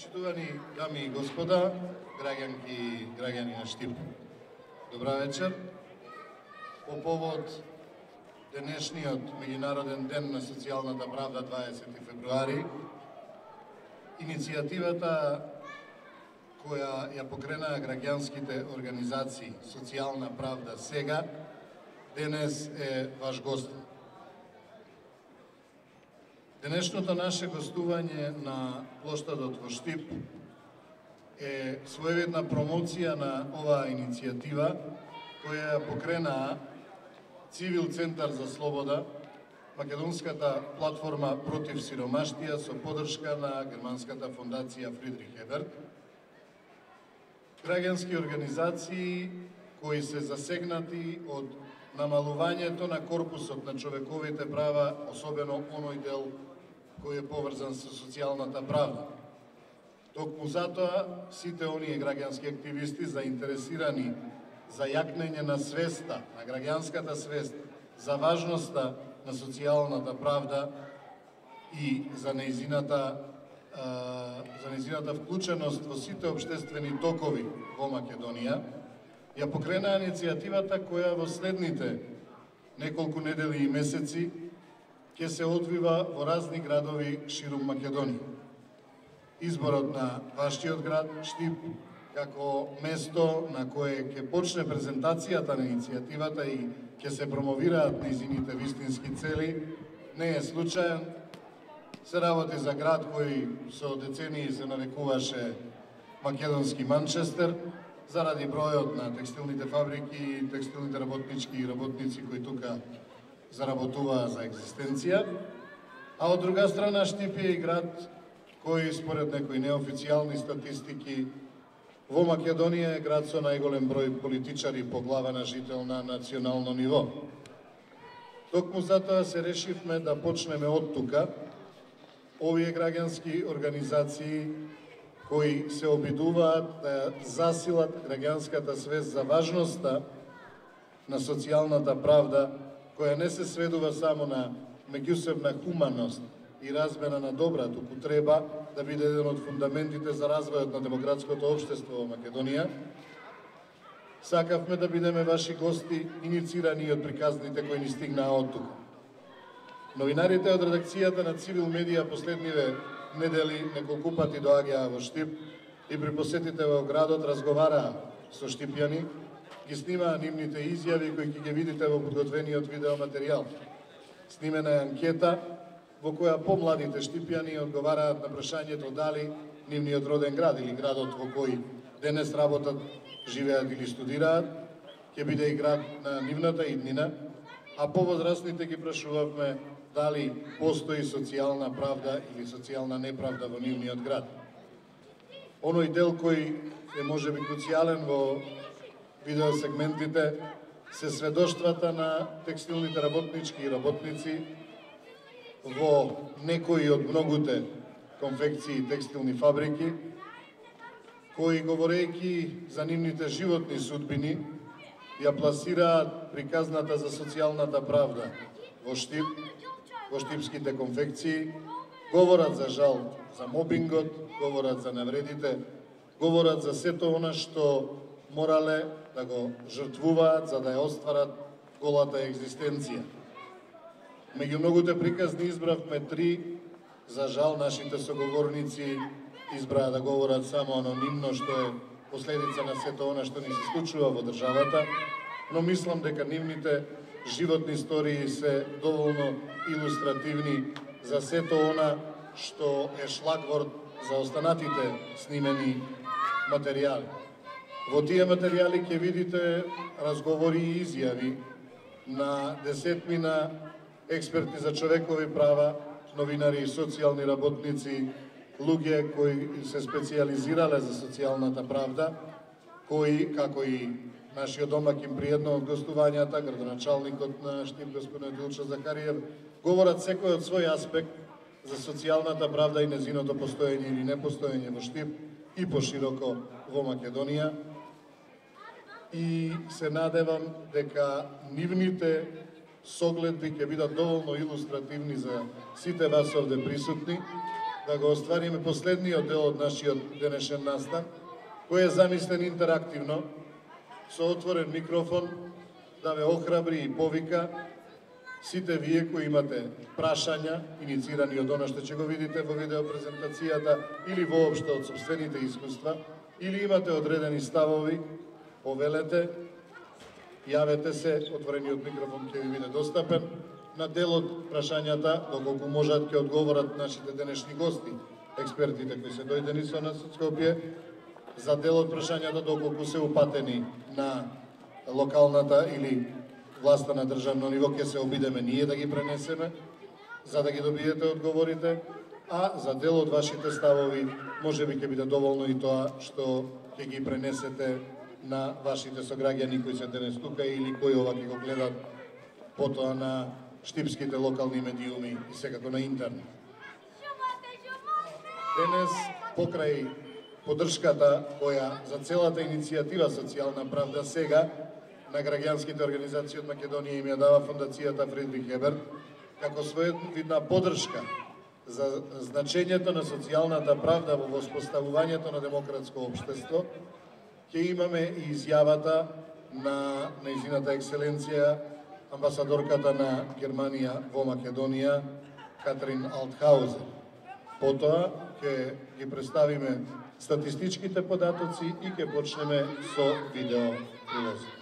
Почитувани дами и господа, граѓанки и граѓани на Штип. Добра вечер. По повод денешниот Меѓународен ден на социјалната правда 20 февруари, иницијативата која ја покренаа граѓанските организации Социјална правда сега, денес е ваш гост. Денешното наше гостување на плоштадот во Штип е своевидна промоција на оваа иницијатива која ја покренаа Цивил Центар за слобода, македонската платформа против сиромаштија со поддршка на германската фондација Фридрих Еберт, граѓански организации кои се засегнати од намалувањето на корпусот на човековите права, особено оној дел кој е поврзан со социјалната правда. Токму затоа, сите оние граѓански активисти заинтересирани за јакнење на свеста, на граѓанската свест, за важноста на социјалната правда и за нејзината вклученост во сите општествени токови во Македонија, ја покренаа иницијативата која во следните неколку недели и месеци ќе се одвива во разни градови ширум Македонија. Изборот на вашиот град, Штип, како место на кое ќе почне презентацијата на иницијативата и ќе се промовираат нејзините вистински цели, не е случаен. Се работи за град кој со децении се нарекуваше македонски Манчестер, заради бројот на текстилните фабрики и текстилните работнички и работници кои тука заработуваа за екзистенција, а од друга страна Штип е и град кој според некои неофицијални статистики во Македонија е град со најголем број политичари по глава на жител на национално ниво. Токму затоа се решивме да почнеме од тука. Овие граѓански организации кои се обидуваат да засилат граѓанската свест за важноста на социјалната правда, која не се сведува само на меѓусебна хуманост и размена на добра, туку треба да биде еден од фундаментите за развојот на демократското општество во Македонија. Сакавме да бидеме ваши гости, иницирани од приказните кои ни стигнаа од тука. Новинарите од редакцијата на Цивил Медија последниве недели неколку пати доаѓаа во Штип и при посетите во градот разговараа со штипјани, ги снимаа нивните изјави кои ќе ги видите во подготвениот видеоматеријал. Снимена е анкета во која помладите штипјани одговараат на прашањето дали нивниот роден град или градот во кој денес работат, живеат или студираат, ќе биде и град на нивната иднина, а повозрастните ги прашувавме дали постои социјална правда или социјална неправда во нивниот град. Оној дел кој е можеби круцијален во видеосегментите се сведоштвата на текстилните работнички и работници во некои од многуте конфекции и текстилни фабрики, кои говорејќи за нивните животни судбини, ја пласираат приказната за социјалната правда во Штип, во штипските конфекции, говорат за жал за мобингот, говорат за навредите, говорат за сето она што морале да го жртвуваат за да ја остварат голата екзистенција. Меѓу многуте приказни избравме три, за жал нашите соговорници избраа да говорат само анонимно, што е последица на сето она што ни се случува во државата, но мислам дека нивните животни истории се доволно илустративни за сето она што е шлагворд за останатите снимени материјали. Во тие материјали ќе видите разговори и изјави на десетмина експерти за човекови права, новинари и социјални работници, луѓе кои се специјализирале за социјалната правда, кои, како и нашиот домакин при едно од гостувањата, градоначалникот на Штип, господин Дилчо Захариев, говорат секој од свој аспект за социјалната правда и незиното постоење или непостоење во Штип и пошироко во Македонија. И се надевам дека нивните согледби ќе бидат доволно илустративни за сите вас овде присутни да го оствариме последниот дел од нашиот денешен настан, кој е замислен интерактивно, со отворен микрофон, да ве охрабри и повика сите вие кои имате прашања, иницирани од она што ќе го видите во видеопрезентацијата или воопшто од собствените искуства, или имате одредени ставови, повелете, јавете се, отворениот микрофон ќе ви биде достапен. На дел од прашањата, доколку можат, ќе одговорат нашите денешни гости, експертите кои се дојдени со нас од Скопје. За дел од прашањата, доколку се упатени на локалната или власта на државно ниво, ќе се обидеме ние да ги пренесеме, за да ги добиете одговорите, а за дел од вашите ставови, може би ќе биде доволно и тоа што ќе ги пренесете на вашите сограѓани кои се денес тука или кои ова ќе го гледат потоа на штипските локални медиуми и секако на интернет. Денес, покрај поддршката која за целата иницијатива Социјална правда сега на граѓанските организации од Македонија им ја дава Фондацијата Фридрих Еберт, како своевидна поддршка за значењето на социјалната правда во воспоставувањето на демократско општество, ќе имаме и изјавата на нејзината екселенција амбасадорката на Германија во Македонија, Катрин Алтхаузен. Потоа ќе ги представиме статистичките податоци и ќе почнеме со видео прилозот.